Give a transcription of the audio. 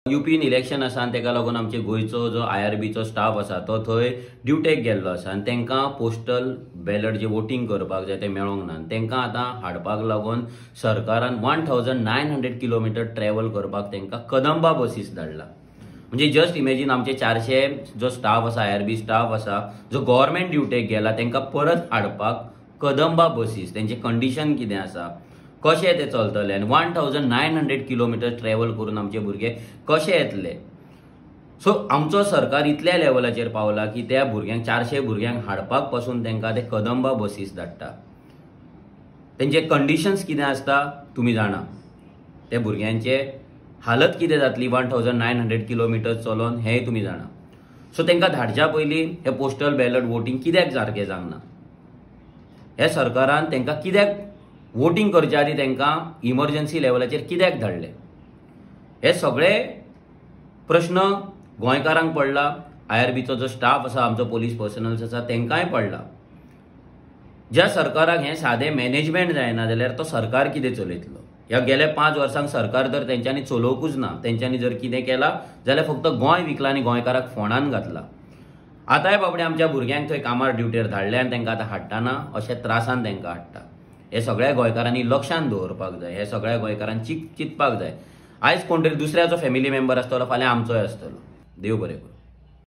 U pin election आसा आनी तेका लागून आमचे गोंयचो जो आय.आर.बीचो स्टाफ आसा तो थंय ड्युटेक गेल्लो आसा आनी तांकां पोस्टल बॅलट जे वोटींग करपाक जाय ते मेळोंक ना आनी तांकां आतां हाडपाक लागून सरकारान 1900 किलोमिटर ट्रॅवल करपाक तांकां कदंबा बसीस धाडला. म्हणजे जस्ट इमेजीन आमचे 400 जो स्टाफ आसा, आय.आर.बी स्टाफ आसा जो गव्हर्मेंट ड्युटेक गेला तांकां परत हाडपाक कदंबा बसीस, तेंचे कंडिशन कितें आसा, कशें ते चलतले आनी 1900 किलोमिटर ट्रॅवल करून आमचे भुरगे कशे येतले. सो आमचो सरकार इतल्या लेवलाचेर पावला की त्या भुरग्यांक 400 भुरग्यांक हाडपाक पासून तांकां ते कदंबा बसीस धाडटा. तेंचे कंडिशन्स कितें आसता तुमी जाणा, ते भुरग्यांचे हालत कितें जातली 1900 किलोमिटर चलोन हेंय तुमी जाणा. सो तांकां धाडच्या पयलीं हे पोस्टल बॅलट वोटींग कित्याक सारकें जावंक ना, हे सरकारान तांकां कित्याक वोटींग करच्या आदी तांकां इमर्जन्सी लेवलाचेर कित्याक धाडले, हे सगळे प्रश्न गोंयकारांक पडला. आय.आर.बीचो जो स्टाफ आसा, आमचो पोलीस पर्सनल्स आसा तांकांय पडला. ज्या सरकाराक हें सादें मॅनेजमेंट जायना जाल्यार तो सरकार कितें चलयतलो. ह्या गेल्या 5 वर्सांक सरकार तर तेंच्यांनी चलोवंकूच ना. तेंच्यांनी जर कितें केलां जाल्यार फक्त गोंय विकलां आनी गोंयकाराक फोंडान घातला. आतांय बाबडे आमच्या भुरग्यांक थंय कामार ड्युटेर धाडले आनी तांकां आतां हाडटाना अशे त्रासान तांकां हाडटा. हे सगळ्या गोंयकारांनी लक्षांत दवरपाक जाय, हे सगळ्या गोंयकारांनी चिंतपाक जाय. आयज कोण तरी दुसऱ्याचो फॅमिली मेंबर आसतलो, फाल्यां आमचोय आसतलो. देव बरें करूं.